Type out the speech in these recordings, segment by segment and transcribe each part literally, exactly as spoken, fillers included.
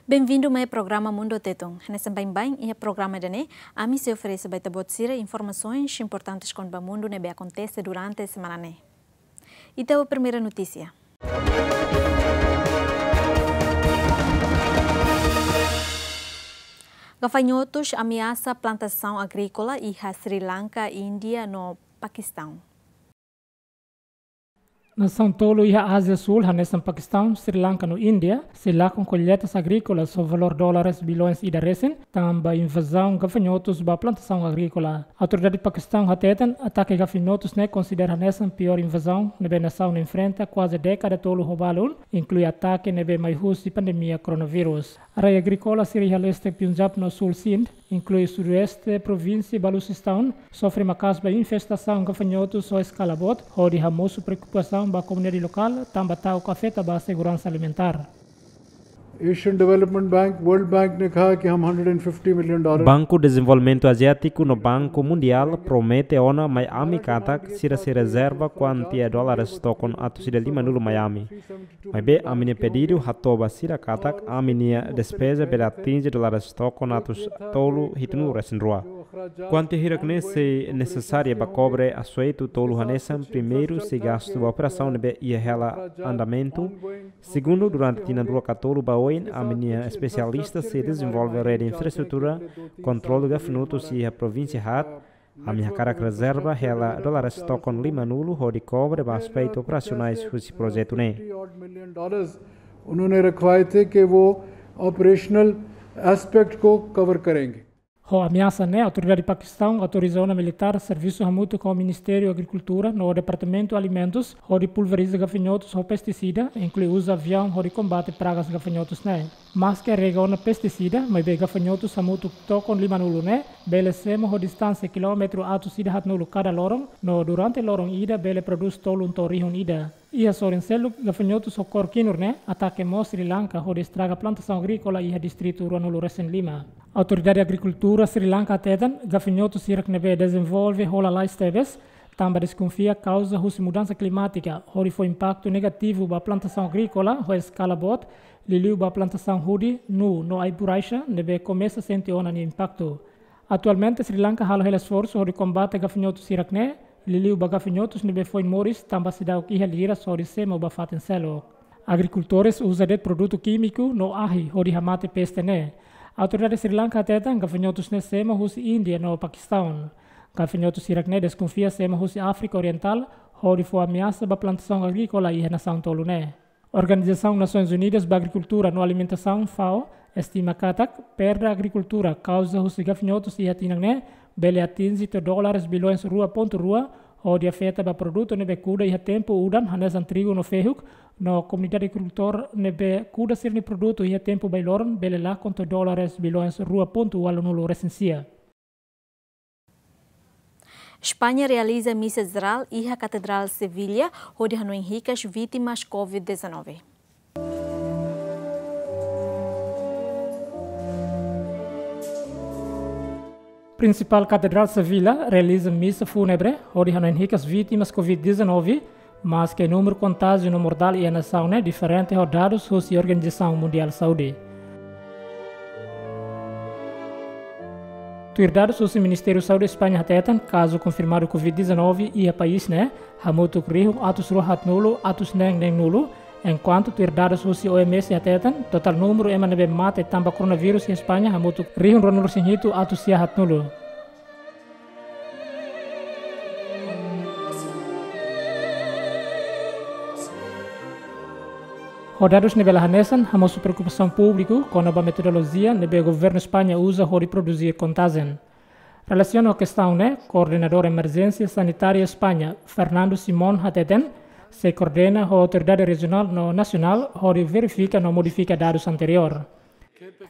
Benvindu mai programa Mundu Tetun. Hanesan baibain iha programa ida-ne'e, ami sei oferese ba ita-boot sira informasoens importantes kona-ba mundu ne'ebé akontese durante semana ne'e. Ita ba primeira notísia. Gafanhotus ameasa plantasaun agríkola iha Sri Lanka, Índia no Pakistaun. Nasaun tolu iha Ázia Súl, hanesan Pakistaun, Sri Lanka no Índia, sei lakon kolleitas agríkolas ho valór dólares bilhões ida resin, tanba invazaun gafanhotus ba plantasaun agríkola. Autoridade Pakistaun hateten, atake gafanhotus ne'e konsidera hanesan piór invazaun ne'ebé nasaun enfrenta kuaze dékada tolu ho balun, inklui atake ne'ebé mai husi pandemia koronavírus. Área agríkola sira iha leste Punjab no súl Sindh, inklui sudoeste provínsia Baluchistan, sofre maka'as ba infestasaun gafanhotus ho eskala boot, hodi hamosu preokupasaun ba komunidade lokál, tanba ta'uk afeta ba seguransa alimentár. Asian Development Bank, World Bank ने कहा कि हम hundred and fifty million dollar Banku Dezenvolvimentu Aziátiku no Banku Mundiál promete ona mai ami katak sira sei rezerva kuantia dólares tokon atus ida limanulu mai ami. Maibé ami-nia pedidu hato'o ba sira katak ami-nia despeza bele atinje dólares tokon atus tolu hitunulu resin rua. Kuantia hirak-ne'e sei nesesária ba kobre asoetu tolu hanesan, primeiru, sei gastu ba operasaun ne'ebé iha hela andamentu, segundu, durante tinan rua ka tolu ba oin, ami-nia espesialista sei dezenvolve rede infraestrutura kontrolu gafanhotus iha provínsia haat, ami hakarak rezerva hela dólares tokon limanulu hodi kobre ba aspetu operasionais husi projetu ne'e. उन्होंने रखवाए थे कि वो operational aspect को कवर करेंगे. Ho ameasa ne'e, autoridade Pakistaun autoriza ona militár servisu hamutuk ho Ministériu Agrikultura no Departamentu Alimentus hodi pulveriza gafanhotus ho pestisida, inklui uza aviaun hodi kombate pragas gafanhotus ne'e. Maske rega ona pestisida, maibé gafanhotus hamutuk tokon limanulu ne'e bele semo ho distánsia kilómetru atus ida haatnulu kada loron, no durante loron ida bele prodús tolun to'o rihun ida. Iha sorin seluk, gafanhotus ho kór kinur ne'e atake mós Sri Lanka hodi estraga plantasaun agríkola iha distritu ruanulu resin lima. Autoridade Agrikultura Sri Lanka hateten, gafanhotus hirak ne'ebé dezenvolve ho lalais tebes, tanba deskonfia kauza husi mudansa klimátika, hodi fó impaktu negativu ba plantasaun agríkola ho eskala boot, liuliu ba plantasaun hudi, nuu no ai-buraixa, ne'ebé komesa sente ona nia impaktu. Atualmente, Sri Lanka halo hela esforsu hodi kombate gafanhotus hirak-ne'e, liuliu ba gafanhotus ne'ebé foin moris tanba seidauk iha liras hodi semo ba fatin seluk. Agrikultores uza de'it produtu kímiku no ahi hodi hamate peste ne'e. Autoridade Sri Lanka hateten gafanhotus ne'e semo husi Índia no Pakistaun. Gafanhotus hirak-ne'e deskonfia semo husi Áfrika Orientál, hodi fó ameasa ba plantasaun agríkola iha nasaun tolu ne'e. Organizasaun Nasoins Unidas ba Agrikultura no Alimentasaun, fao, estima katak perda agrikultura kauza husi gafanhotus iha tinan ne'e bele atinje to'o dólares bilhões rua pontu rua, hodi afeta ba produtu ne'ebé kuda iha tempu udan, hanesan trigu no fehuk, no komunidade agrikultór ne'ebé kuda sira-nia produtu iha tempu bailoron bele lakon to'o dólares bilhões rua pontu ualunulu resin sia. España realiza misa jerál iha Katedrál Sevilha, hodi hanoin hikas vítimas covid dezanove. Prinsipál Katedrál Sevilha realiza misa fúnebre, hodi hanoin hikas vítimas covid dezanove, maske númeru kontájiu no mortál iha nasaun ne'e diferente ho dadus husi Organizasaun Mundiál Saúde. Tuir dadus husi Ministériu Saúde España hateten, kazu konfirmadu covid dezanove iha país ne'e hamutuk rihun atus rua haatnulu atus neen neenulu, enkuantu tuir dadus husi O M S hateten, totál númeru ema ne'ebé mate tanba koronavírus iha España hamutuk rihun ruanulu resin hitu atus sia haatnulu. Ho dadus ne'ebé la hanesan, hamosu preokupasaun públiku kona-ba metodolojia ne'ebé governu España uza hodi produzir kontajen. Relasiona ho kestaun ne'e, Koordenadór Emerjénsia Sanitária España, Fernando Simón hateten, sei koordena ho autoridade rejionál no nasionál hodi verifika no modifika dadus anteriór.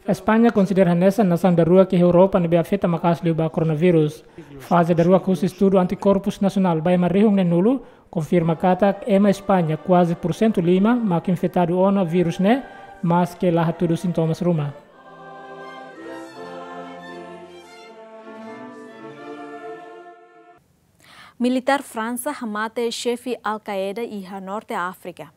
España konsidera hanesan nasaun daruak iha Europa ne'ebé afeta maka'as liu ba koronavírus. Faze daruak husi estudu antikorpus nasionál ba ema rihun neenulu konfirma katak ema España kuaze pursentu lima mak infetadu ona vírus ne'e, maske la hatudu sintomas ruma. Militár Fransa hamate xefe Al-Qaeda iha Norte Áfrika.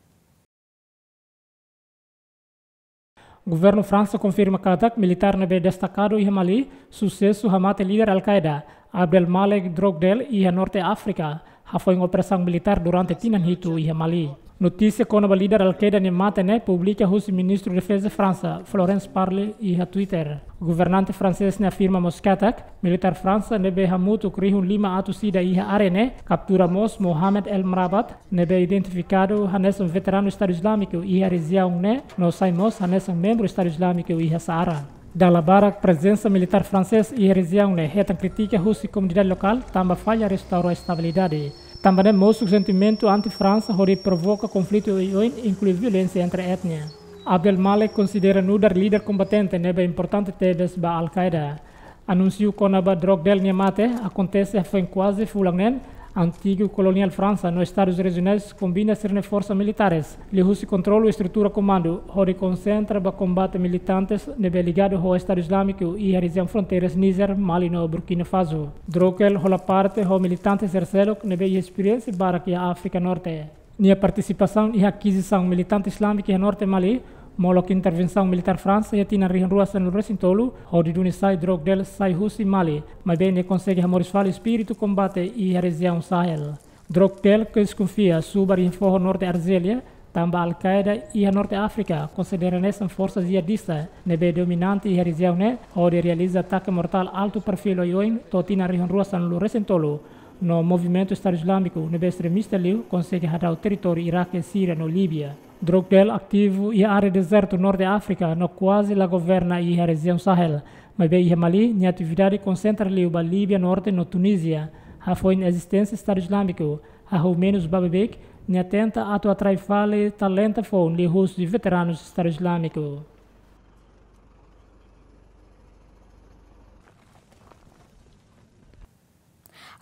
Governu Fransa konfirma katak militár ne'ebé destakadu iha Mali susesu hamate líder Al-Qaeda, Abdel Malek Drogdel, iha Norte Áfrika, hafoin operasaun militár durante tinan hitu iha Mali. Notísia kona-ba líder Al-Qaeda nia mate ne'e publika husi Ministru Defeza Fransa, Florence Parly, iha Twitter. Governante fransés ne'e afirma mós katak militár Fransa ne'ebé hamutuk rihun lima atus ida iha área ne'e kaptura mós Mohamed El Mrabat, ne'ebé identifikadu hanesan veteranu Estadu Islamiku iha rejiaun ne'e, no sai mós hanesan membru Estadu Islamiku iha Saara. Dala barak prezensa militár fransés iha rejiaun ne'e hetan kritika husi komunidade lokál tanba falla restaura estabilidade. Tanba ne'e mosu sentimentu anti-Fransa hodi provoka konflitu oioin, inklui violénsia entre etnia. Abdel Malek konsidera nu'udar líder kombatente ne'ebé importante tebes ba Al-Qaeda. Anúnsiu kona-ba Drogdel nia mate akontese hafoin kuaze fulan neen, antigu koloniál Fransa no Estadus Rejionais kombina sira-nia forsa militáres, liuhusi kontrolu estrutura komandu, hodi konsentra ba kombate militantes ne'ebé ligadu ho Estadu Islamiku iha rejiaun fronteiras Nízer, Mali no Burkina Faso. Drogdel hola parte ho militantes sira seluk ne'ebé iha esperiénsia barak iha Áfrika Norte. Nia partisipasaun iha akizisaun militante islámika iha norte Mali, molok intervensaun militár Fransa iha tinan rihun rua sanulu resin tolu, hodi duni sai Drogdel sai husi Mali, maibé nia konsege hamoris fali espíritu kombate iha rejiaun Sahel. Drogdel ke deskonfia subar iha foho norte Arjélia, tanba Al-Qaeda iha norte Áfrika konsidera hanesan forsa jihadista ne'ebé dominante iha rejiaun ne'e, hodi realiza atake mortál altu perfíl oioin to'o tinan rihun rua sanulu resin tolu, no movimentu Estadu Islamiku ne'ebé estremista liu konsege hadau territóriu Iraque, Síria no Líbia. Drogdel ativu iha área dezertu norte Áfrika no kuaze la governa iha rejiaun Sahel. Maibé iha Mali, nia atividade konsentra liu ba Líbia norte no Tunízia. Hafoin ezisténsia Estadu Islamiku hahú menus ba beibeik, nia tenta atu atrai fali talenta foun liuhusi veteranus Estadu Islamiku.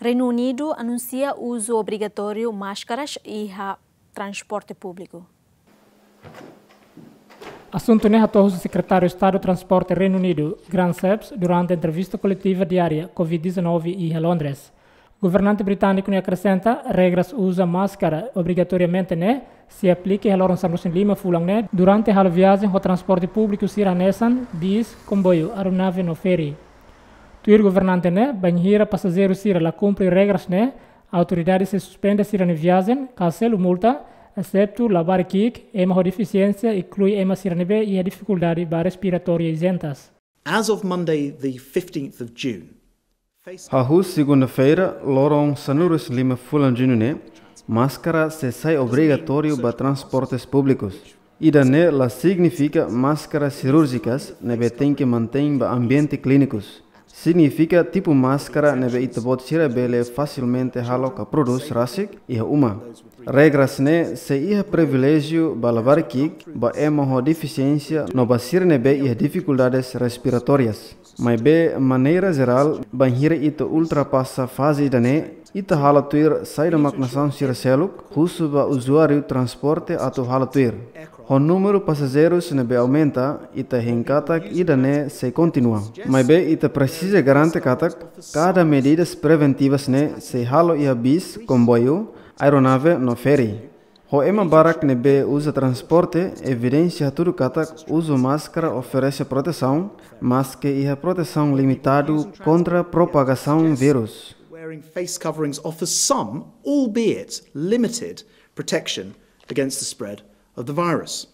Reinu Unidu anunsia uzu obrigatóriu máskaras iha transporte públiku. Asuntu ne'e hato'o husi Sekretáriu Estadu Transporte Reinu Unidu, Grant Shapps, durante entrevista koletiva diária covid dezanove iha Londres. Governante britániku ne'e akresenta, regras uza máskara obrigatoriamente ne'e sei aplika iha loron sanulu resin lima fulan ne'e durante halo viajen ho transporte públiku sira hanesan bis, komboiu, aeronave no feri. Tuir governante ne'e, bainhira pasajeiru sira la kumpre regras ne'e, autoridade sei suspende sira-nia viajen ka selu multa, exetu labarik ki'ik, ema ho defisiénsia, inklui ema sira ne'ebé iha difikuldade ba respiratória izentas. As of Monday, the fifteenth of June, face Hahú segunda-feira, loron sanulu resin lima fulan Juñu ne'e, máskara sei sai obrigatóriu ba transportes públikus. Ida-ne'e la signifika máskara sirúrjikas ne'ebé tenke mantein ba ambiente klínikus. Signifika tipu máskara ne'ebé ita-boot sira bele fasilmente halo ka prodús rasik iha uma. Regras ne'e sei iha priviléjiu ba labarik ki'ik, ba ema ho defisiénsia no ba sira ne'ebé iha difikuldades respiratórias. Maibé, maneira jerál, bainhira ita ultrapasa faze ida-ne'e, ita halo tuir saida mak nasaun sira seluk husu ba uzuáriu transporte atu halo tuir. Ho númeru pasajeirus ne'ebé aumenta, ita hein katak ida-ne'e sei kontinua. Maibé, ita presiza garante katak kada medidas preventivas ne'e sei halo iha bis, komboiu, aeronave no feri. Ho ema barak ne'ebé uza transporte, evidénsia hatudu katak uzu máskara oferese protesaun, maske iha protesaun limitadu kontra propagasaun vírus. Wearing face coverings offers some, albeit limited, protection against the spread of the virus.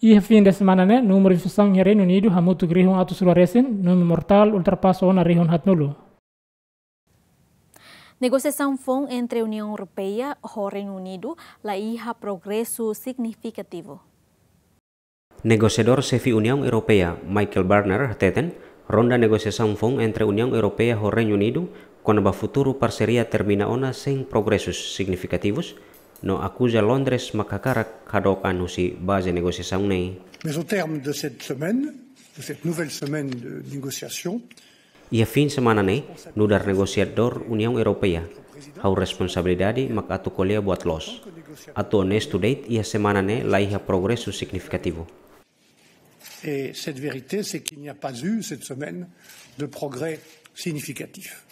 Iha fin de semana ne'e, númeru infesaun iha Reinu Unidu hamutuk rihun atus rua resin, númeru mortál ultrapasa ona rihun haatnulu. Negosiasaun foun entre Uniaun Europeia ho Reinu Unidu la iha progresu signifikativu. Negosiadór xefe Uniaun Europeia, Michael Barnier, hateten, ronda negosiasaun foun entre Uniaun Europeia ho Reinu Unidu kona-ba futuru parseria termina ona sein progresus signifikativus, no akuza Londres mak hakarak hadook an husi baze negosiasaun ne'e. Mais au terme de cette semaine, de cette nouvelle semaine de négociation, Iha fin semana ne'e, nu'udar negosiadór Uniaun Europeia, ha'u responsabilidade mak atu ko'alia buat loos. Atu onestu de'it, iha semana ne'e la iha progresu signifikativu. Et cette vérité, c'est qu'il n'y a pas eu cette semaine de progrès significatif.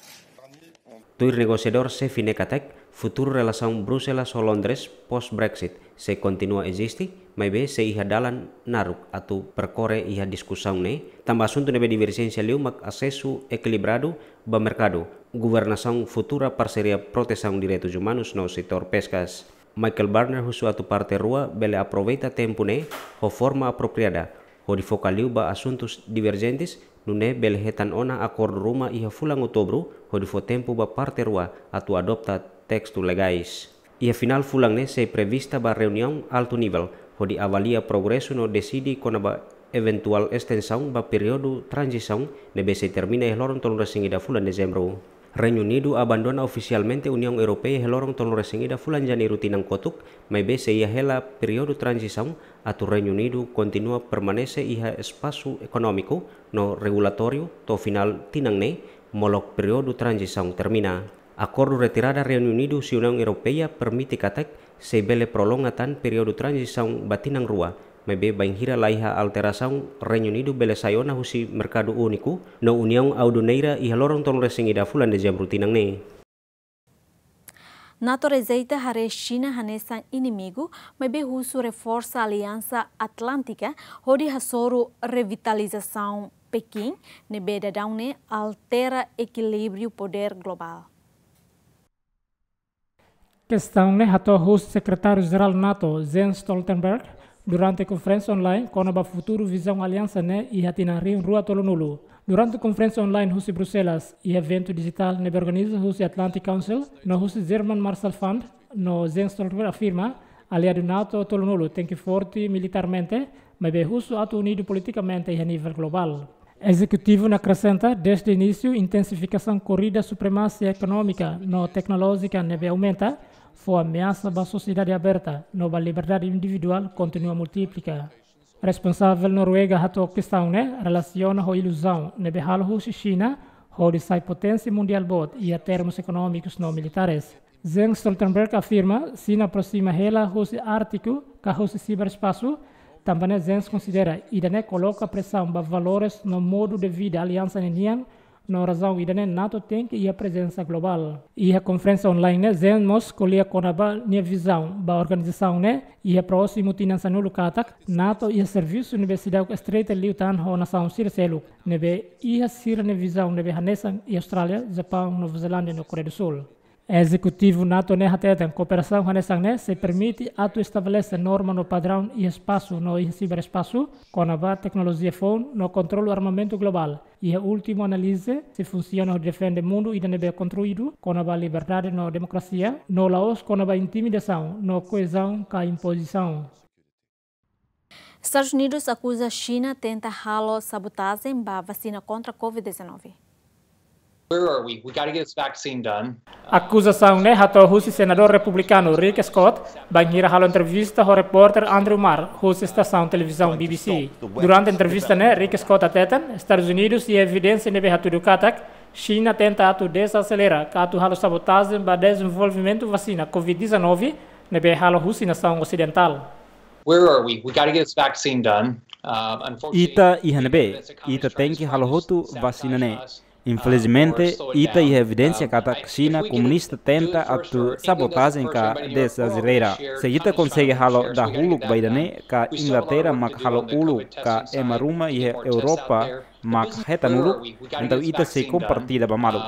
Tuir negosiadór xefe ne'e katak, Futuru relasaun Bruxelas ho Londres pós Brexit sei kontinua eziste, maibé sei iha dalan naruk atu perkore iha diskusaun ne'e, tanba asuntu ne'ebé diverjénsia liu mak asesu ekilibradu ba merkadu, governasaun futura, parseria protesaun direitus umanus no setór peskas. Michael Barnier husu atu parte rua bele aproveita tempu ne'e ho forma apropriada, hodi foka liu ba asuntus diverjentes, nune'e bele hetan ona akordu ruma iha fulan Outubru, hodi fó tempu ba parte rua atu adopta testu legais. Iha finál fulan ne'e sei prevista ba reuniaun altu nivel, hodi avalia progresu no deside kona-ba eventuál estensaun ba períodu tranzisaun ne'ebé sei termina iha loron tolunulu-resin-ida fulan Dezembru. Reinu Unidu abandona ofisialmente Uniaun Europeia iha loron tolunulu-resin-ida fulan Janeiru tinan kotuk, maibé sei iha hela períodu tranzisaun atu Reinu Unidu kontinua permanese iha espasu ekonómiku no regulatóriu to'o finál tinan ne'e, molok períodu tranzisaun termina. Akordu retirada Reinu Unidu husi Uniaun Europeia permite katak sei bele prolonga tan períodu tranzisaun ba tinan rua, maibé bainhira laiha alterasaun, Reinu Unidu bele sai ona husi merkadu úniku no Uniaun Aduaneira iha loron tolunulu-resin-ida fulan Dezembru tinan ne'e. NATO rejeita haree Xina hanesan inimigu, maibé husu reforsa Aliansa Atlántika hodi hasoru revitalizasaun Pekin, ne'ebé daudaun ne'e altera ekilíbriu podér globál. Kestaun ne'e hato'o husi Sekretáriu Jerál NATO, Jens Stoltenberg, durante konferénsia online kona-ba futuru vizaun aliansa ne'e iha tinan rihun rua tolunulu. Durante konferénsia online husi Bruxelas, iha eventu dijitál ne'ebé organiza husi Atlantic Council no husi German Marshall Fund, no Jens Stoltenberg afirma, aliadu NATO tolunulu tenke forte militarmente, maibé husu atu unidu politikamente iha nivel globál. Ezekutivu ne'e akresenta, dezde inísiu, intensifikasaun korrida supremasia ekonómika no teknolójika ne'ebé aumenta, fó ameasa ba sosiedade aberta, no ba liberdade individuál kontinua multiplika. Responsavel Noruega hato'o kestaun ne'e relasiona ho iluzaun ne'ebé halo husi Xina hodi sai poténsia mundiál boot iha termus ekonómikus no militares. Jens Stoltenberg afirma, Xina aproxima hela husi Ártiku ka husi siberespasu, tanba ne'e Jens konsidera ida-ne'e koloka presaun ba valores no modu de vida aliansa ne'e nian, no razaun ida-ne'e NATO tenke iha prezensa globál. Iha konferénsia online ne'e, Jens mós ko'alia kona-ba nia vizaun ba organizasaun ne'e iha prósimu tinan sanulu katak, NATO iha servisu ne'ebé seidauk estreita liután ho nasaun sira seluk, ne'ebé iha sira-nia vizaun ne'ebé hanesan iha Austrália, Japaun, Nova Zelándia no Koreia do Sul. Ezekutivu NATO ne'e hateten, kooperasaun hanesan ne'e sei permite atu estabelese norma no padraun iha espasu no iha siberespasu, kona-ba teknolojia foun no kontrolu armamentu globál. Iha últimu analize, sei funsiona hodi defende mundu ida ne'ebé konstruídu kona-ba liberdade no demokrasia, no la'ós kona-ba intimidasaun no koezaun ka impozisaun. Estadus Unidus akuza Xina tenta halo sabotajen ba vasina kontra covid dezanove. Where are we? We gotta get this vaccine done. Akuzasaun ne'e hato'o husi senadór republikanu Rick Scott, bainhira halo entrevista ho repórter Andrew Marr, husi estasaun televizaun B B C. Durante entrevista ne'e, Rick Scott hateten, Estadus Unidus iha evidénsia ne'ebé hatudu katak Xina tenta atu dezaselera ka atu halo sabotajen ba dezenvolvimentu vasina covid dezanove ne'ebé halo husi nasaun osidentál. Where are we? We gotta get this vaccine done. Uh, unfortunately, ita iha ne'ebé? Ita tenke halo hotu vasina ne'e. Infelizmente, ita iha evidénsia katak Xina komunista tenta atu sabotajen ka dezaselera. Se ita konsege halo dahuluk ba ida-ne'e, ka Inglaterra mak halo uluk, ka ema ruma iha Europa mak hetan uluk, entaun ita sei kompartilla ba malu.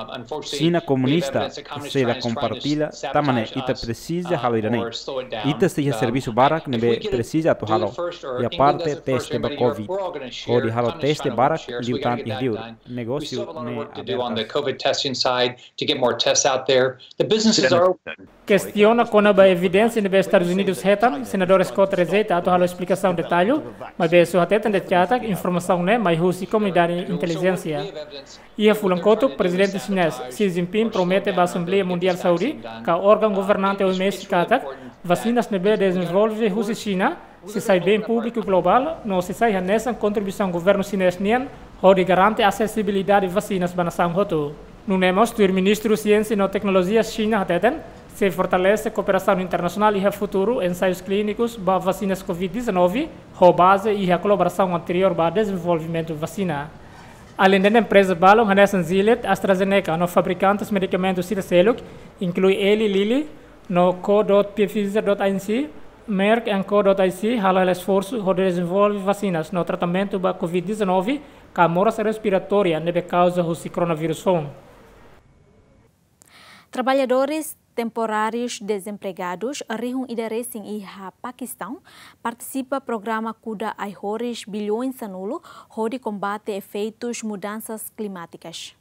Xina komunista sei la kompartilla, tanba ne'e ita presiza halo ida-ne'e. Ita sei iha servisu barak ne'ebé presiza atu halo. Iha parte teste ba covid. Hodi halo teste barak liután iha liur. Negósiu ne'e aberta. Kestiona kona-ba evidénsia ne'ebé Estadus Unidus hetan, senadór Scott rejeita atu halo esplikasaun detallu, maibé só hateten de'it katak informasaun ne'e mai husi komunidade intelijénsia. Iha fulan kotuk, Prezidente Xinés Xi Jinping promete ba Asembleia Mundiál Saúde, ka órgaun governante O M S, katak vasinas ne'ebé dezenvolve husi Xina sei sai bem públiku globál, no sei sai hanesan kontribuisaun governu xinés nian hodi garante asesibilidade vasinas ba nasaun hotu. Nune'e mós tuir Ministru Siénsia no Teknolojia Xina hateten, sei fortalese kooperasaun internasionál iha futuru ensaius klínikus ba vasinas covid dezanove, ho baze iha kolaborasaun anteriór ba dezenvolvimentu vasina. Aleinde ne'e, empreza balun hanesan Gilead, AstraZeneca no fabrikantes medikamentu sira seluk, inklui Eli Lilly, No co dot pfizer dot inc, Merck and co dot inc halo hela esforsu hodi dezenvolve vasinas no tratamentu ba covid dezanove ka moras respiratória ne'ebé kauza husi koronavírus foun. Trabalhadores temporários desempregados rihun ida resin iha Pakistaun partisipa programa kuda ai-horis bilhões sanulu hodi kombate efeitus mudansas klimátikas.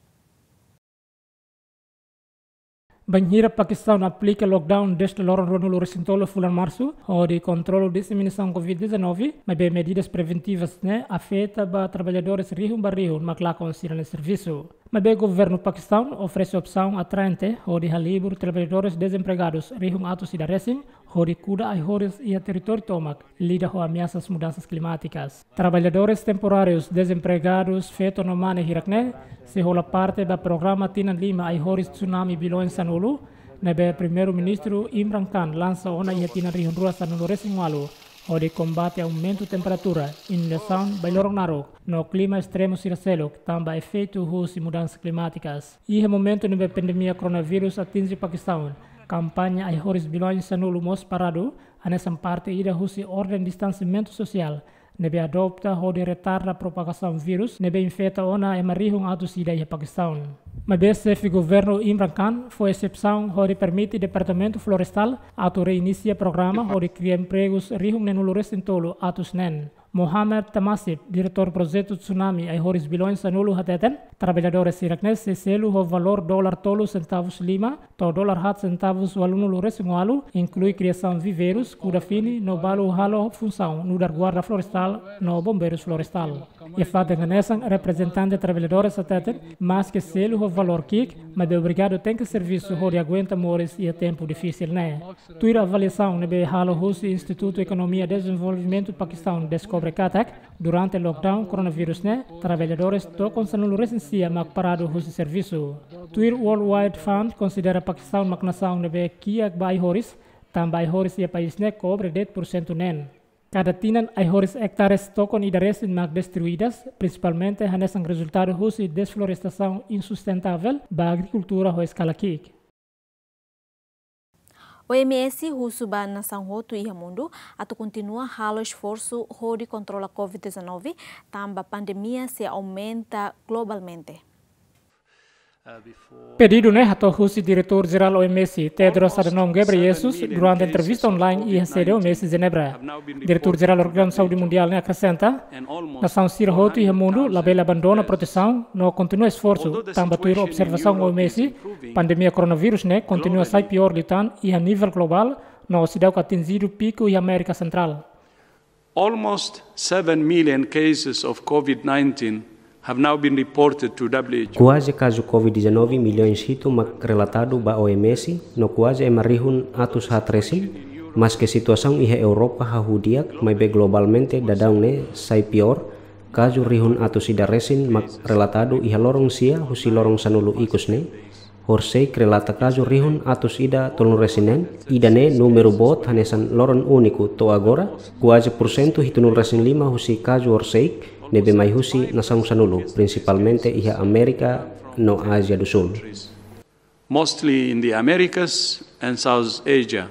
Bainhira Pakistaun aplika lockdown dezde loron ruanulu resin tolu fulan Marsu, hodi kontrola diseminasaun covid dezanove, maibé medidas preventivas ne'e afeta ba trabalhadores rihun ba rihun mak lakon sira-nia servisu. Maibé governu Pakistaun oferese opsaun atraente hodi halibur trabalhadores desempregados rihun atus ida resin, hodi kuda ai-horis iha territóriu tomak, lida ho ameasas mudansas klimátikas. Trabalhadores temporárius desempregados feto no mane hirak-ne'e sei hola parte ba programa tinan lima ai-horis tsunami bilhões sanulu, ne'ebé Primeiru-Ministru Imran Khan lansa ona iha tinan rihun rua sanulu resin ualu, hodi kombate aumentu temperatura, inundasaun, bailorok naruk, no klima estremu sira seluk, tanba efeitu husi mudansas klimátikas. Iha momentu ne'ebé pandemia koronavírus atinje Pakistaun, kampaña ai-horis bilhões sanulu mós paradu, hanesan parte ida husi orden distansiamentu sosiál ne'ebé adopta hodi retarda propagasaun vírus ne'ebé infeta ona ema rihun atus ida iha Pakistaun. Maibé xefe governu Imran Khan fó esepsaun hodi permite Departamentu Florestál atu reinisia programa hodi kria empregus rihun neenulu resin tolu atus neen. Mohammad Tamasib, diretór projetu tsunami ai-horis bilhões sanulu hateten, trabalhadores hirak-ne'e sei selu ho valór dolar tolu sentavus lima to'o dolar haat sentavus ualunulu resin ualu, inklui kriasaun viveirus, kuda fini, no balu halo funsaun nu'udar guarda florestál no bombeirus florestál. Iha fatin hanesan, reprezentante trabalhadores hateten, maske selu ho valór ki'ik, maibé obrigadu tenke servisu hodi aguenta moris iha tempu difisil ne'e. Tuir avaliasaun ne'ebé halo husi Institutu Ekonomia Dezenvolvimentu Pakistaun deskobre katak, durante lockdown koronavírus ne'e, trabalhadores tokon sanulu resin sia mak paradu husi servisu. Tuir World Wide Fund konsidera Pakistaun mak nasaun ne'ebé kiak ba ai-horis, tanba ai-horis iha país ne'e kobre de'it pursentu neen. Kada tinan ai-horis ektares tokon ida resin mak destruidas, prinsipalmente hanesan rezultadu husi desflorestasaun insustentável ba agrikultura ho eskala ki'ik. O M S husu ba nasaun hotu iha mundu atu kontinua halo esforsu hodi kontrola covid dezanove, tanba pandemia sei aumenta globalmente. Pedidu ne'e hato'o husi Diretór Jerál O M S, Tedros Adhanom Ghebreyesus, durante entrevista online iha sede O M S Jenebra. Diretór Jerál Organizasaun Saúde Mundiál ne'e akresenta, nasaun sira hotu iha mundu labele abandona protesaun no kontinua esforsu, tanba tuir observasaun O M S, pandemia koronavírus ne'e kontinua sai piór liután iha nivel globál no seidauk atinjidu piku iha Amérika Sentrál. Almost seven million cases of covid nineteen have now been reported to W H O. Kuaze kazu covid dezanove milhões hitu mak relatadu ba O M S, no kuaze ema rihun atus haat resin, maske situasaun iha Europa hahú di'ak, maibé globalmente daudaun ne'e sai piór, kazu rihun atus ida resin mak relatadu iha loron sia husi loron sanulu ikus ne'e, horisehik relata kazu rihun atus ida tolunulu resin neen, ida-ne'e númeru boot hanesan loron úniku to'o agora, kuaze pursentu hitunulu resin lima husi kazu horisehik ne'ebé mai husi nasaun sanulu, prinsipalmente iha Amérika no Ázia do Sul. Mostly in the Americas and South Asia.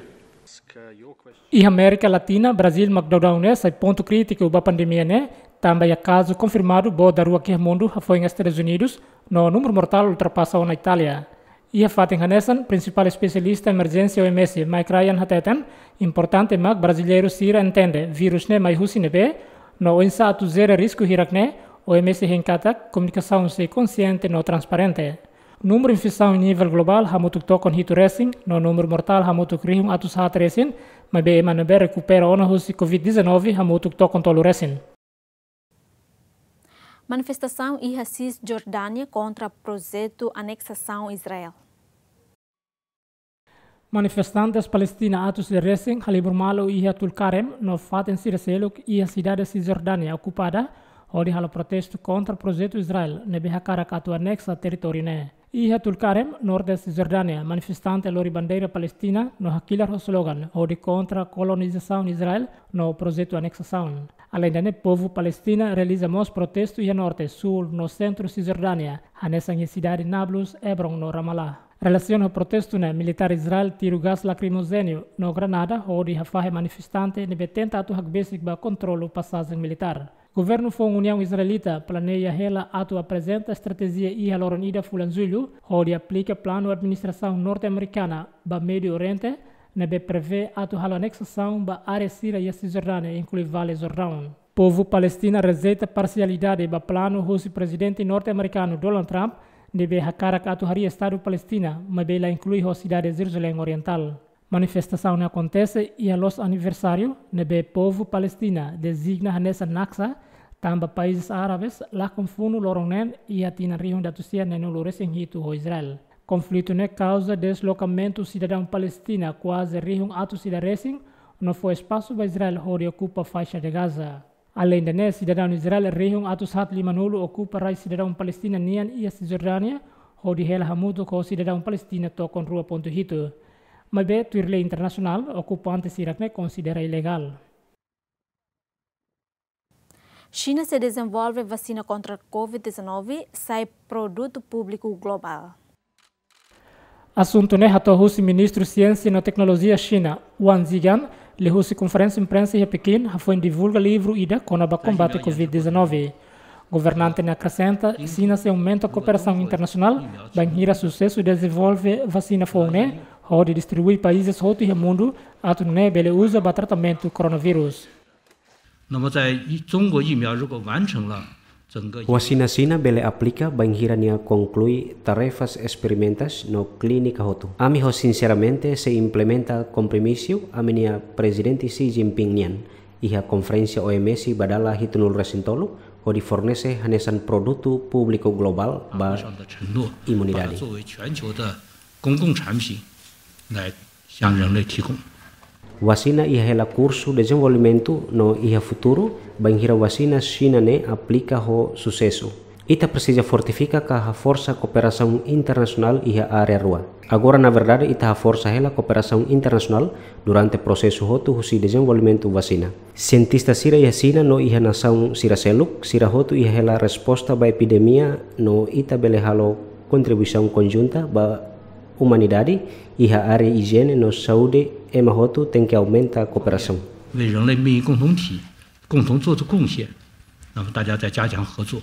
Iha Amérika Latina, Brazíl mak daudaun ne'e sai pontu krítiku ba pandemia ne'e, tanba iha kazu konfirmadu boot daruak iha mundu hafoin Estadus Unidus, no númeru mortál ultrapasa ona Itália. Iha fatin hanesan, prinsipál espesialista emerjénsia O M S, Mike Ryan hateten, importante mak brasileiru sira entende vírus ne'e mai husi ne'ebé, no oinsá atu jere risku hirak-ne'e, O M S hein katak komunikasaun sei konxiente no transparente. Númeru infesaun nivel globál hamutuk tokon hitu resin, no númeru mortál hamutuk rihun atus haat resin, maibé ema ne'ebé rekupera ona husi covid dezanove hamutuk tokon tolu resin. Manifestasaun iha Sisjordánia kontra projetu aneksasaun Israel. Manifestantes Palestina atus ida resin halibur malu iha Tulkarem no fatin sira seluk iha sidade Sisjordánia okupada, hodi halo protestu kontra projetu Israel ne'ebé hakarak atu aneksa territóriu ne'e. Iha Tulkarem, norte Sisjordánia, manifestante lori bandeira Palestina no hakilar ho slogan hodi kontra kolonizasaun Israel no projetu aneksasaun. Aleinde ne'e, povu Palestina realiza mós protestu iha norte, súl no sentru Sisjordánia, hanesan iha sidade Nablus, Hebron no Ramallah. Relasiona ho protestu ne'e, militár Israel tiru gás lakrimozéniu no granada hodi hafahe manifestante ne'ebé tenta atu hakbesik ba kontrolu pasajen militár. Governu foun Uniaun Israelita planeia hela atu aprezenta estratéjia iha loron ida fulan Jullu, hodi aplika planu administrasaun norte-amerikana ba Médiu Oriente, ne'ebé prevee atu halo aneksasaun ba área sira iha Sisjordánia, inklui Vale Jordaun. Povu Palestina rejeita parsialidade ba planu husi Prezidente norte-amerikanu Donald Trump, ne'ebé hakarak atu harii Estadu Palestina, maibé la inklui ho sidade Jeruzalén Orientál. Manifestasaun ne'e akontese iha loos aniversáriu ne'ebé povu Palestina dezigna hanesan Naksa, tanba países árabes lakon funu loron neen iha tinan rihun ida atus sia neenulu resin hitu ho Israel. Konflitu ne'e kauza deslokamentu sidadaun Palestina kuaze rihun atus ida resin, no fó espasu ba Israel hodi okupa Faixa de Gaza. Aleinde ne'e, sidadaun Israel rihun atus haat limanulu okupa rai sidadaun Palestina nian iha Sisjordánia, hodi hela hamutuk ho sidadaun Palestina tokon rua pontu hitu. Maibé, tuir lei internasionál, okupante sira-ne'e konsidera ilegál. Xina sei dezenvolve vasina kontra covid dezanove, sai produtu públiku globál. Asuntu ne'e hato'o husi Ministru Siénsia no Teknolojia Xina, Wang Zhiyan, liuhusi konferénsia imprensa iha Pekin, hafoin divulga livru ida kona-ba kombate covid dezanove. Governante ne'e akresenta, Xina sei aumenta kooperasaun internasionál, bainhira susesu dezenvolve vasina foun ne'e, hodi distribui países hotu iha mundu, atu nune'e bele uza ba tratamentu koronavírus. 那么在中国疫苗如果完成了整个 Vasina Xina bele aplika bainhira nia konklui tarefas esperimentais no klínika hotu. Ami ho sinseramente sei implementa kompromisu ami-nia Prezidente Xi Jinping nian iha konferénsia O M S ba dala hitunulu resin tolu, hodi fornese hanesan produtu públiku globál ba 上的承诺，把它 imunidade. 作为全球的公共产品来向人类提供。 Vasina iha hela kursu dezenvolvimentu no iha futuru, bainhira vasina Xina ne'e aplika ho susesu. Ita presiza fortifika ka haforsa kooperasaun internasionál iha área rua. Agora, na verdade, ita haforsa hela kooperasaun internasionál durante prosesu hotu husi dezenvolvimentu vasina. Sientista sira iha Xina no iha nasaun sira seluk, sira hotu iha hela resposta ba epidemia no ita bele halo kontribuisaun konjunta ba umanidade iha área ijiene no saúde, ema hotu tenke aumenta kooperasaun. 为人类命运共同体共同做出贡献，那么大家再加强合作。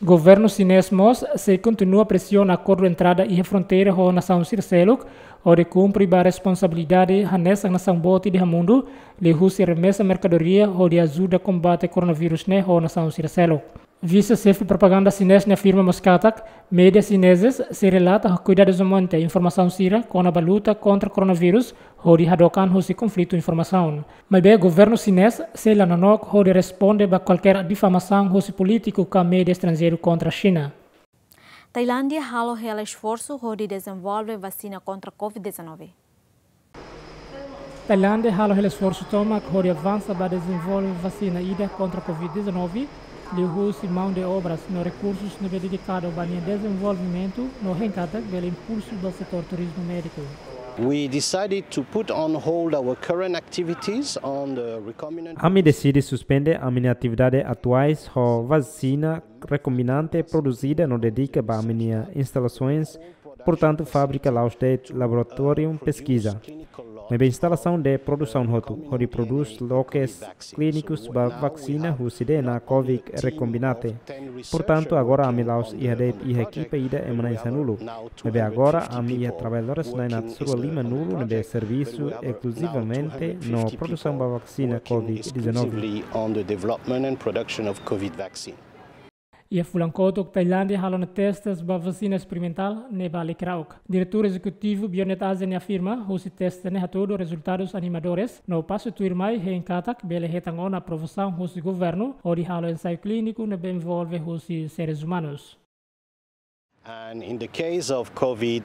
Governu xinés mós sei kontinua presiona akordu entrada iha fronteira ho nasaun sira seluk, hodi kumpre ba responsabilidade hanesan nasaun boot ida iha mundu, liuhusi remesa merkadoria hodi ajuda kombate koronavírus ne'e ho nasaun sira seluk. Vise-xefe propaganda xinés ne'e afirma mós katak, média xinezes sei relata ho kuidadozamente informasaun sira kona-ba luta kontra koronavírus, hodi hadook an husi konflitu informasaun. Maibé governu xinés sei la nonook hodi responde ba kualkér difamasaun husi polítiku ka média estranjeiru kontra Xina. Tailándia halo hela esforsu hodi dezenvolve vasina kontra covid dezanove. Tailándia halo hela esforsu tomak hodi avansa ba dezenvolve vasina ida kontra covid dezanove, liuhusi maun de obras no rekursus ne'ebé dedikadu ba nia dezenvolvimentu no hein katak bele impulsu ba setór turizmu médiku. We decided to put on hold our current activities on the recombinant Ami deside suspende ami-nia atividade atuais ho vasina rekombinante produzida no dedika ba ami-nia instalasoens, portantu, fábrika la'ós de'it laboratóriu peskiza. Maibé instalasaun de produsaun hotu, hodi prodús loke klínikus ba vasina husi D N A covid rekombinante. Portantu, agora ami la'ós iha de'it iha ekipa ida ema na'in sanulu. Maibé agora ami iha traballadores na'in atus rua limanulu ne'ebé servisu eskluzivamente no produsaun ba vasina covid dezanove. Exclusively on the development and production of covid vaccine. Iha fulan kotuk, Tailándia halo ona testes ba vasina esperimentál ne'e ba likirauk. Diretór Ezekutivu Bionet Asia ne'e afirma, husi teste ne'e hatudu rezultadus animadores, no pasu tuirmai hein katak bele hetan ona aprovasaun husi governu, hodi halo ensaiu klíniku ne'ebé envolve husi seres umanus. And in the case of covid,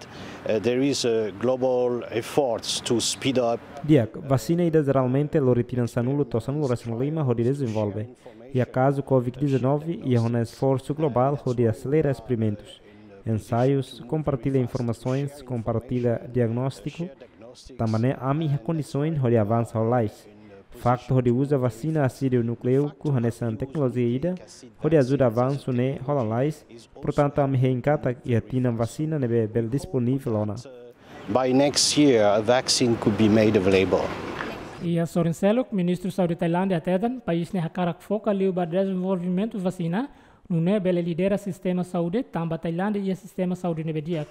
uh, there is a global efforts to speed up. Di'ak, vasina ida jeralmente lori tinan sanulu to'o sanulu resin lima hodi dezenvolve. Iha kazu covid dezanove, iha ona esforsu globál hodi aselera esperimentus, ensaius, kompartilla informasoens, kompartilla diagnóstiku, tanba ne'e ami iha kondisoens hodi avansa ho lalais. Faktu hodi uza vasina ásidu núkleiku hanesan teknolojia ida hodi ajuda avansu ne'e hola lalais, portantu, ami hein katak iha tinan vasina ne'ebé bele disponivel ona. By next year, a vaccine could be made available. Iha sorin seluk, Ministru Saúde Tailándia hateten, país ne'e hakarak foka liu ba dezenvolvimentu vasina, nune'e bele lidera sistema saúde, tanba Tailándia iha sistema saúde ne'ebé di'ak.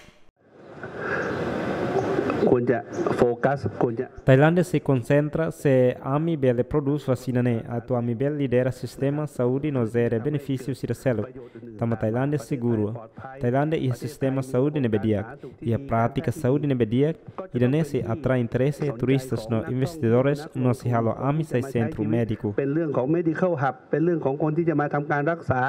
Konja fokus, konja. Tailándia sei konsentra se ami bele prodús vasina ne'e, atu ami bele lidera sistema saúde no jere benefísiu sira seluk. Tanba Tailándia seguru. Tailándia iha sistema saúde ne'ebé di'ak, iha prátika saúde ne'ebé di'ak, ida-ne'e sei atrai interese turistas no investidores no sei halo ami sai sentru médiku. เป็นเรื่องของ medical hub เป็นเรื่องของคนที่จะมาทำการรักษา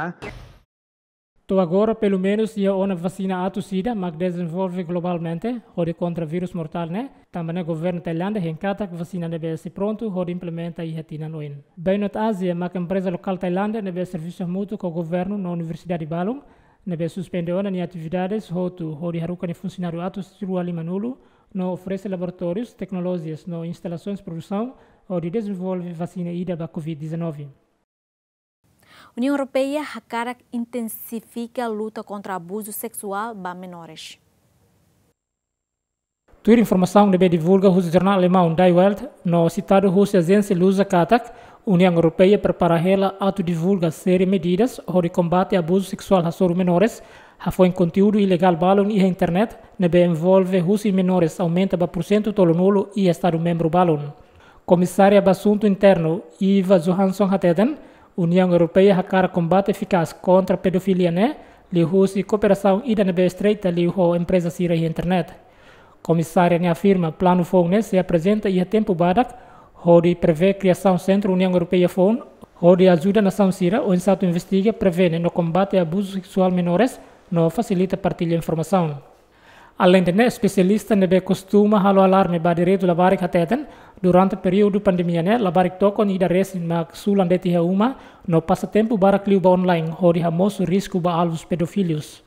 To'o agora, pelumenus iha ona vasina atus ida mak dezenvolve globalmente hodi kontra vírus mortál ne'e, tanba ne'e governu Tailándia hein katak vasina ne'ebé sei prontu hodi implementa iha tinan oin. Bainot Asia mak empreza lokál Tailándia ne'ebé servisu hamutuk ho governu no universidade balun, ne'ebé suspende ona nia atividades hotu hodi haruka nia funsionáriu atus rua lima-nulu, no oferese laboratórius, teknolojias no instalasoens produsaun hodi dezenvolve vasina ida ba covid dezanove. Uniaun Europeia hakarak intensifika luta kontra abuzu seksuál ba menores. Tuir informasaun ne'ebé divulga husi jornál alemaun Die Welt no sitadu husi ajénsia Lusa katak, Uniaun Europeia prepara hela atu divulga série medidas hodi kombate abuzu seksuál hasoru menores, hafoin konteúdu ilegál balun iha internet ne'ebé envolve husi menores aumenta ba porsentu tolunulu iha estadu membru balun. Komisária ba Asuntu Internu, Ylva Johansson hateten, Uniaun Europeia hakarak kombate efikás kontra pedofilia ne'e liuhusi kooperasaun ida ne'ebé estreita liu ho empreza sira iha internet. Komisária ne'e afirma planu foun ne'e sei aprezenta iha tempu badak hodi prevee kriasaun sentru Uniaun Europeia foun hodi ajuda nasaun sira oinsá atu investiga, prevene no kombate abuzu seksuál menores no fasilita partilla informasaun. Aleinde ne'e, espesialista ne'ebé kostuma halo alarme ba direitu labarik hateten, durante períodu pandemia ne'e, labarik tokon ida resin mak sulan de'it iha uma no pasa tempu barak liu ba online hodi hamosu risku ba alvus pedófilus.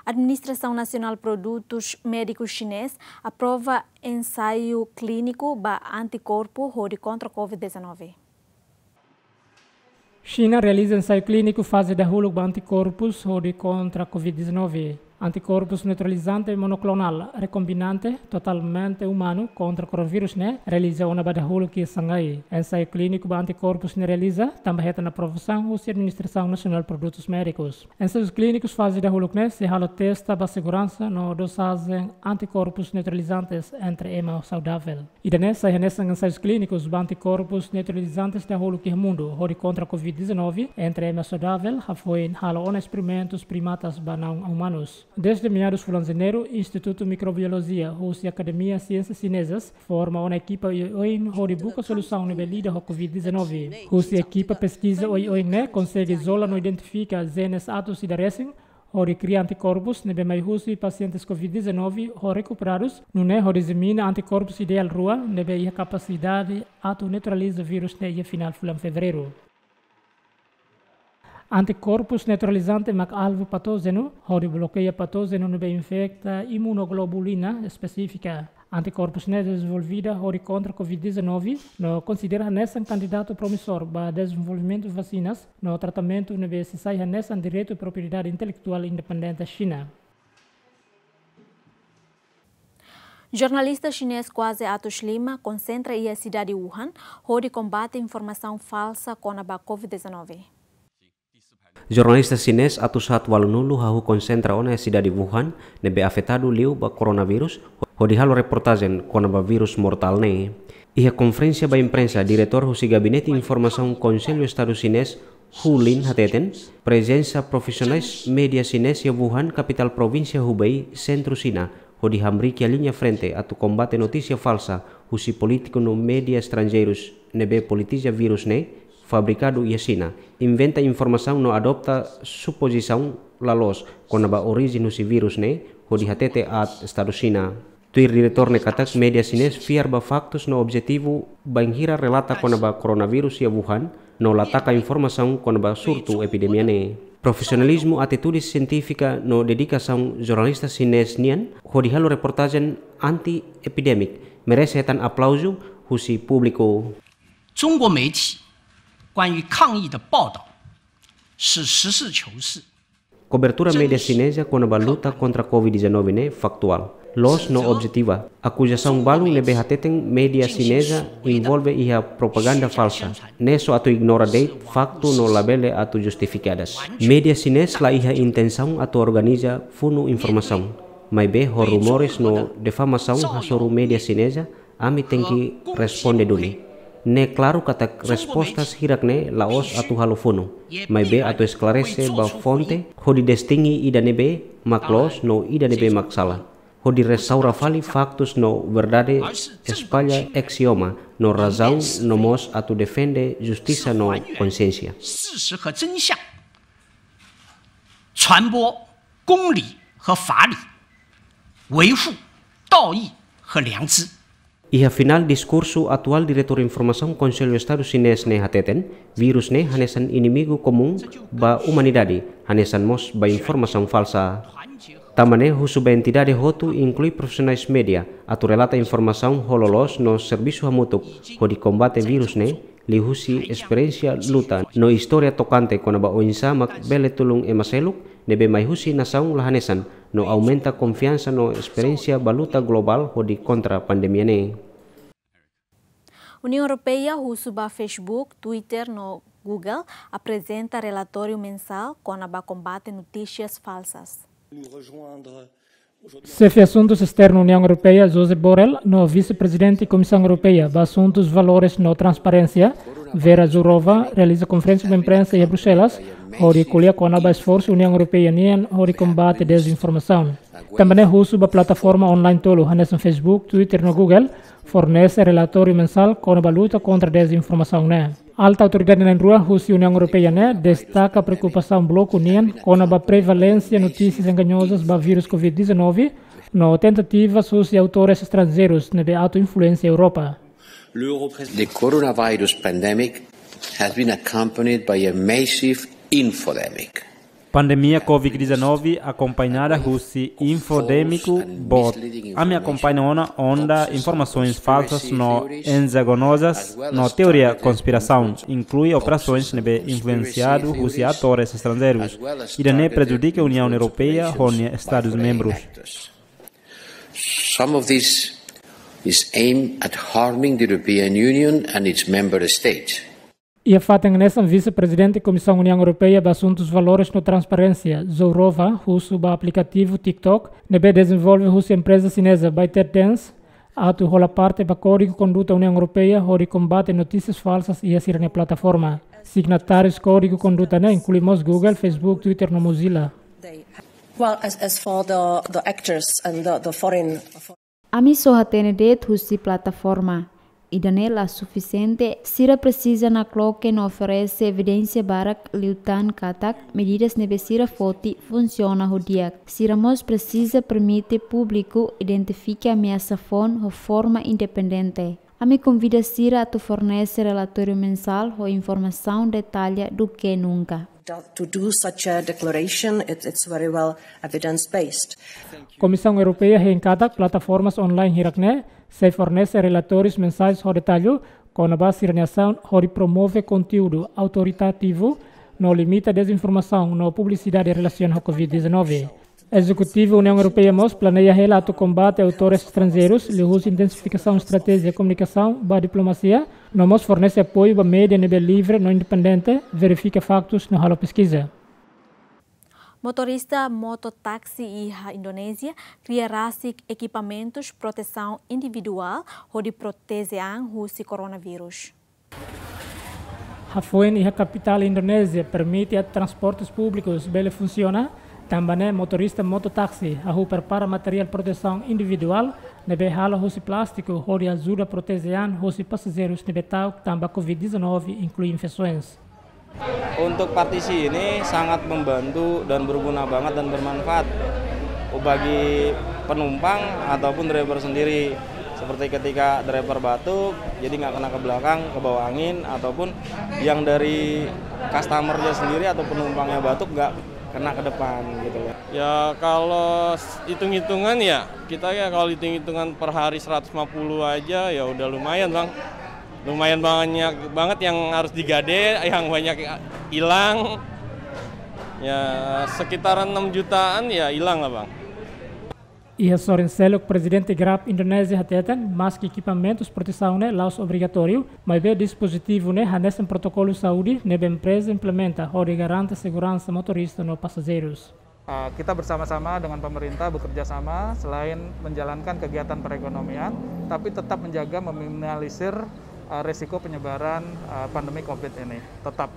Administrasaun Nasionál Produtus Médikus Xinés aprova ensaiu klíniku ba antikorpu hodi kontra covid dezanove. Xina realiza ensaiu klíniku faze dahuluk ba antikorpus hodi kontra covid dezanove. Antikorpus neutralizante monoklonál rekombinante totalmente umanu kontra koronavírus ne'e realiza ona ba dahuluk iha Xangai. Ensaiu klíniku ba antikorpus ne'e realiza tanba hetan aprovasaun husi Administrasaun Nasionál Produtus Médikus. Ensaius klínikus faze dahuluk ne'e sei halo testa ba seguransa no dozajen antikorpus neutralizantes entre ema saudavel. Ida-ne'e sai hanesan ensaius klínikus ba antikorpus neutralizantes dahuluk iha mundu hodi kontra covid dezanove entre ema saudavel, hafoin halo ona esperimentus primatas ba naun umanus. Desde meadus fulan Janeiru, Institutu Mikrobiolojia husi Akademia Siénsias Xinezas forma ona ekipa oioin hodi buka solusaun ne'ebé lida ho covid dezanove. Husi ekipa peskiza oioin ne'e konsege izola no identifika jenes atus ida resin, hodi kria antikorpus ne'ebé mai husi pasientes covid dezanove ho rekuperadus, nune'e hodi dizemina antikorpus ideál rua ne'ebé iha kapasidade atu neutraliza vírus ne'e iha final fulan Fevereiru. Antikorpus neutralizante mak alvu patójenu, hodi blokeia patójenu ne'ebé infeta imunoglobulina espesífika. Antikorpus ne'e dezenvolvida hodi kontra covid dezanove, no konsidera hanesan kandidatu promissór ba dezenvolvimentu vasinas no tratamentu ne'ebé sei sai hanesan direitu propriedade intelektuál independente Xina. Jornalista xinés kuaze atus lima konsentra iha sidade Wuhan hodi kombate informasaun falsa kona-ba covid dezanove. Jornalista xinés atus haat ualunulu hahú konsentra ona iha sidade Wuhan, ne'ebé afetadu liu ba koronavírus, hodi halo reportajen kona-ba vírus mortál ne'e. Iha konferénsia ba imprensa, diretór husi Gabinete Informasaun Konsellu Estadu Xinés, Hu Lin hateten, prezensa profisionais média xinés iha Wuhan, kapitál provínsia Hubei, sentru Xina, hodi hamriik iha liña frente atu kombate notísia falsa husi polítiku no média estranjeirus ne'ebé politiza vírus ne'e fabrikadu iha Xina, inventa informasaun no adota supozisaun la loos kona-ba orijen husi vírus ne'e hodi hatete aat Estadu Xina. Tuir diretór ne'e katak média xinés fiar ba faktus no objetivu bainhira relata kona-ba koronavírus iha Wuhan, no la taka informasaun kona-ba surtu epidemia ne'e. Profisionalizmu, atitude sientífika no dedikasaun jornalista xinés nian hodi halo reportajen anti-epidemik merese hetan aplauzu husi públiku. 中国媒体关于抗疫的报道是实事求是。 Kobertura média xineza kona-ba luta kontra covid dezanove ne'e faktuál, loos no objetiva. Akuzasaun balu ne'ebé hateten média xineza envolve iha propaganda falsa ne'e só atu ignora de'it faktu no labele atu justifikadas. Média xinez la iha intensaun atu organiza funu informasaun, maibé ho rumores no difamasaun hasoru média xineza, ami tenke responde duni. Ne'e klaru katak respostas hirak-ne'e la'ós atu halo funu, maibé atu esklarese ba fonte hodi distingi ida ne'ebé mak loos no ida ne'ebé mak sala. Hodi restaura fali faktus no verdade, espalla aksioma no razaun no mós atu defende justisa no konsiénsia. 事实和真相，传播公理和法理，维护道义和良知。 Iha finál diskursu atuál Diretór Informasaun Konsellu Estadu Xinés ne'e hateten, vírus ne'e hanesan inimigu komún ba umanidade, hanesan mós ba informasaun falsa. Tanba ne'e husu ba entidade hotu inklui profisionais média atu relata informasaun ho loloos no servisu hamutuk hodi kombate vírus ne'e, liuhusi esperiénsia luta no istória tokante kona-ba oinsá mak bele tulun ema seluk ne'ebé mai husi nasaun la hanesan, no aumenta konfiansa no esperiénsia ba luta globál hodi kontra pandemia ne'e. Uniaun Europeia husu ba Facebook, Twitter no Google aprezenta relatóriu mensál kona-ba kombate notísias falsas. Xefe Asuntus Esternu Uniaun Europeia, Josep Borrell, no Vise-Prezidente Komisaun Europeia ba Asuntus Valores no Transparénsia, Vera Jourova, realiza konferénsia ba imprensa iha Bruxelas, hodi ko'alia kona-ba esforsu Uniaun Europeia nian hodi kombate dezinformasaun. Tanba ne'e husu ba plataforma online tolu, hanesan Facebook, Twitter no Google, fornese relatóriu mensál kona-ba luta kontra dezinformasaun ne'e. Alta autoridade na'in-rua husi Uniaun Europeia ne'e destaka preokupasaun bloku nian kona-ba prevalénsia notísias engañozas ba vírus covid dezanove, no tentativas husi autores estranjeirus ne'ebé atu influensia Europa. The coronavirus pandemic has been accompanied by a massive infodemic. Pandemia covid dezanove akompañada husi infodémiku boot. Ami akompaña ona onda informasoens falsas no engañozas no teoria konspirasaun, inklui operasoens ne'ebé influensiadu husi atores estranjeirus. Ida-ne'e prejudika Uniaun Europeia ho nia Estadus membrus. Some of this is aimed at harming the European Union and its member states. Iha fatin hanesan, Vise-Prezidente Komisaun Uniaun Europeia ba Asuntus Valores no Transparénsia, Jourova, husu ba aplikativu TikTok ne'ebé dezenvolve husi empreza xineza ByteDance atu hola parte ba Kódigu Konduta Uniaun Europeia hodi kombate notísias falsas iha sira-nia plataforma. Signatárius Kódigu Konduta ne'e inklui mós Google, Facebook, Twitter no Mozilla. Well, as, as for the, the actors and the, the foreign. Ami só hatene de'it husi plataforma. Ida-ne'e la sufisiente, sira presiza nakloke no oferese evidénsia barak liután katak medidas ne'ebé sira foti funsiona ho di'ak. Sira mós presiza permite públiku identifika ameasa foun ho forma independente. Ami konvida sira atu fornese relatóriu mensál ho informasaun detalla duké nunka. To do such a declaration, it, it's very well evidence-based. Komisaun Europeia hein katak plataformas online hirak-ne'e sei fornese relatórius mensais ho detallu kona-ba sira-nia asaun hodi promove konteúdu autoritativu no limita dezinformasaun no publisidade relasiona ho covid dezanove. Ezekutivu Uniaun Europeia mós planeia hela atu kombate autores estranjeirus, liuhusi intensifikasaun estratéjia komunikasaun ba diplomasia, no mós fornese apoiu ba média ne'ebé livre no independente, verifika faktus no halo peskiza. Motorista mototáksi iha Indonézia kria rasik ekipamentus protesaun individuál hodi proteje an husi koronavírus. Hafoin iha kapitál Indonézia permite atu transportes públikus bele funsiona, tanba ne'e motorista mototáksi hahú prepara materiál protesaun individuál ne'ebé halo husi plástiku hodi ajuda proteje an husi pasajeirus ne'ebé ta'uk tanba covid dezanove, inklui infesoens. Untuk partisi ini sangat membantu dan berguna banget dan bermanfaat bagi penumpang ataupun driver sendiri. Seperti ketika driver batuk, jadi nggak kena ke belakang, ke bawah angin, ataupun yang dari customernya sendiri atau penumpangnya batuk nggak kena ke depan gitu loh. Ya, kalau s-, hitung-hitungan ya, kita ya kalau hitung-hitungan per hari seratus lima puluh aja ya udah lumayan, Bang. Lumayan banyak banget yang harus digade, yang banyak hilang. Ya, sekitaran enam jutaan ya hilang lah, Bang. Iha sorin seluk, Prezidente Grab Indonézia hateten, maski ekipamentus protesaun ne'e la'ós obrigatóriu, maibé dispozitivu ne'e hanesan protokolu saúde ne'ebé empreza implementa hodi garante seguransa motorista no pasajeirus. Ah, kita bersama-sama dengan pemerintah bekerja sama, selain menjalankan kegiatan perekonomian, tapi tetap menjaga meminimalisir, ah, resiko penyebaran, ah, pandemi covid ini. Tetap.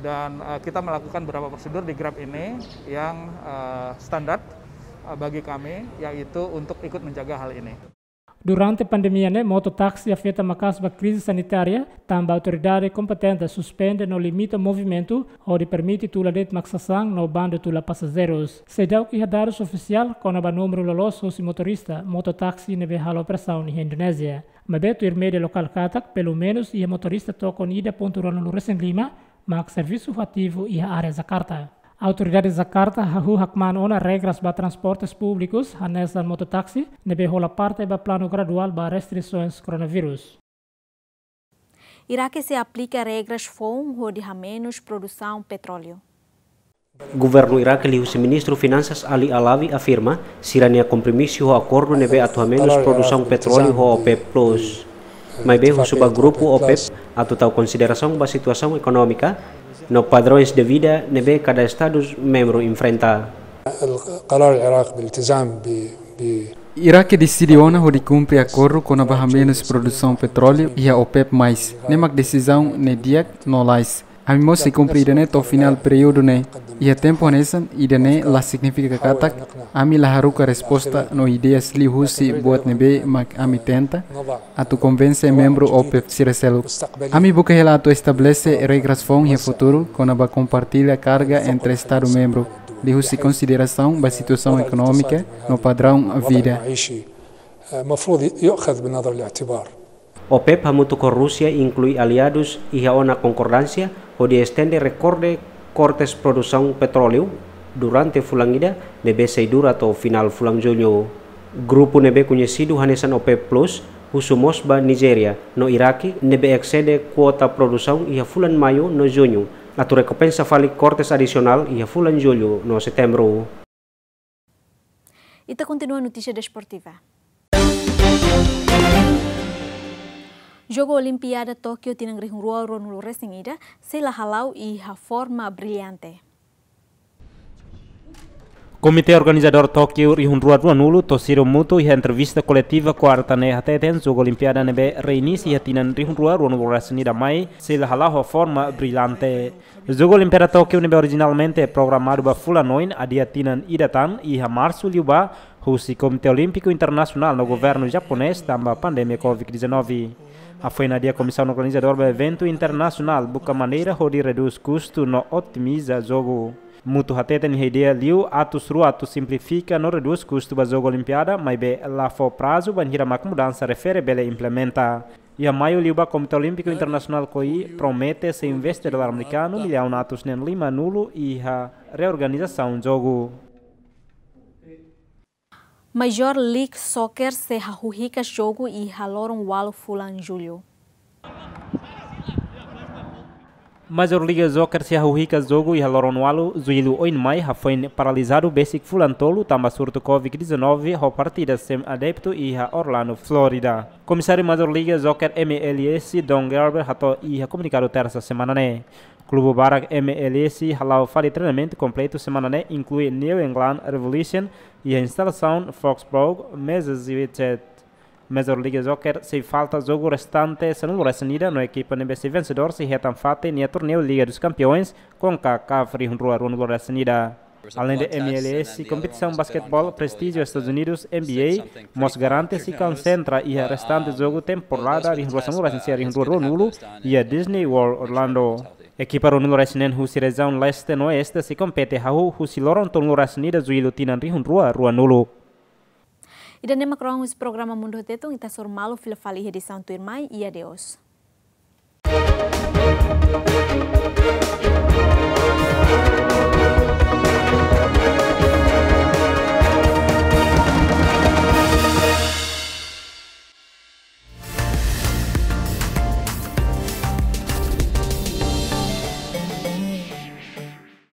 Dan, ah, kita melakukan beberapa prosedur di Grab ini yang, ah, standar, ah, bagi kami, yaitu untuk ikut menjaga hal ini. Durante pandemia ne'e, mototaksi afeta maka'as ba krize sanitária, tanba autoridade kompetente suspende no limita movimentu, hodi permite tula de'it mak sasán no bandu tula pasajeirus. Seidauk iha dadus ofisiál kona-ba númeru loloos husi motorista mototaksi ne'ebé halo operasaun iha Indonézia. Maibé tuir média lokál katak, pelumenus iha motorista tokon ida pontu ruanulu resin lima mak servisu ativu iha área Jakarta. Autoridade Jakarta hahú hakmaan ona regras ba transportes públikus, hanesan mototaksi, ne'ebé hola parte ba planu graduál ba restrisoens koronavírus. Irake sei aplika regras foun hodi hamenus produsaun petróleu. Governu Irake liuhusi Ministru Finansas Ali Alawi afirma, sira-nia kompromisu ho akordu ne'ebé atu hamenus produsaun petróleu ho OPEP Plus. Maibé husu ba grupu OPEP atu tau konsiderasaun ba situasaun ekonómika no padrões de vida ne'ebé kada Estadus membru enfrenta. القرار العراق بالالتزام ب-، ب- Irake deside ona hodi kumpre akordu kona-ba hamenus produsaun petróleu iha OPEP mais. Ne'e mak desizaun ne'e di'ak no lalais. Ami mós sei kumpre ida-ne'e to'o finál períodu ne'e. Iha tempu hanesan, ida-ne'e la signifika katak ami la haruka resposta no ideias liuhusi buat ne'ebé mak ami tenta atu konvense membru OPEP sira seluk. Ami buka hela atu estabelese regras foun iha futuru kona-ba kompartilla karga entre Estadu membru, liuhusi konsiderasaun ba situasaun ekonómika no padrão vida. المفروض يؤخذ بنظر الاعتبار. OPEP hamutuk ho Rúsia inklui aliadus iha ona konkordánsia hodi estende rekorde kortes produsaun petróleu durante fulan ida ne'ebé sei dura to'o finál fulan Jullu. Grupu ne'ebé koñesidu hanesan OPEP Plus husu mós ba Nijéria no Irake ne'ebé eksede kuota produsaun iha fulan Maiu no Juñu atu rekompensa fali kortes adisionál iha fulan Jullu no Setembru. Ita kontinua notísia desportiva. Jogu Olimpiada Tókiu tinan rihun rua ruanulu resin ida sei la hala'o iha forma brillante. Komité organizadór Tókiu rihun rua ruanulu, Toshiro Muto, iha entrevista koletiva kuarta ne'e hateten, Jogu Olimpiada ne'ebé reinisu iha tinan rihun rua ruanulu resin ida mai sei la hala'o ho forma brillante. Jogu Olimpiada Tókiu ne'ebé orijinalmente programadu ba fulan oin adia tinan ida tan iha Marsu liubá, husi Komité Olímpiku Internasionál no governu japonés tanba pandemia covid dezanove. Hafoin adia, komisaun organizadór ba eventu internasionál buka maneira hodi redús kustu no otimiza jogu. Muto hateten iha ideia liu atus rua atu simplifika no redús kustu ba Jogu Olimpiada, maibé la fó prazu bainhira mak mudansa refere bele implementa. Iha Maiu liubá, Komité Olímpiku Internasionál, koi, promete sei investe dolar amerikanu millaun atus neen limanulu iha reorganizasaun jogu. Major League Soccer sei hahú hikas jogu iha loron ualu fulan Jullu. Major League Soccer sei hahú hikas jogu iha loron ualu Jullu oin mai, hafoin paralizadu besik fulan tolu tanba surtu covid dezanove ho partida sem adeptu iha Orlando, Florida. Komisáriu Major League Soccer M L S, Don Garber, hato'o iha komunikadu tersa semana ne'e. Klube barak M L S hala'o fali treinamentu kompletu semana ne'e, inklui New England Revolution iha instalasaun Foxborough, Massachusetts. Major League Soccer sei falta jogu restante sanulu resin ida no ekipa ne'ebé sai vensedór sei hetan fatin iha torneiu Liga dos Campeões, CONCACAF, rihun rua ruanulu resin ida. Alende M L S, kompetisaun basketeból prestíjiu Estadus Unidus, N B A, mós garante sei konsentra iha restante jogu temporada rihun rua sanulu resin sia, rihun rua ruanulu iha Disney World Orlando. Ekipa ruanulu resin neen husi rejiaun leste no oeste sei kompete hahú husi loron tolunulu resin ida Jullu tinan rihun rua ruanulu. Ida-ne'e mak rohan husi programa Mundu Tetun, ita hasoru malu fila fali iha edisaun tuirmai, i adeus.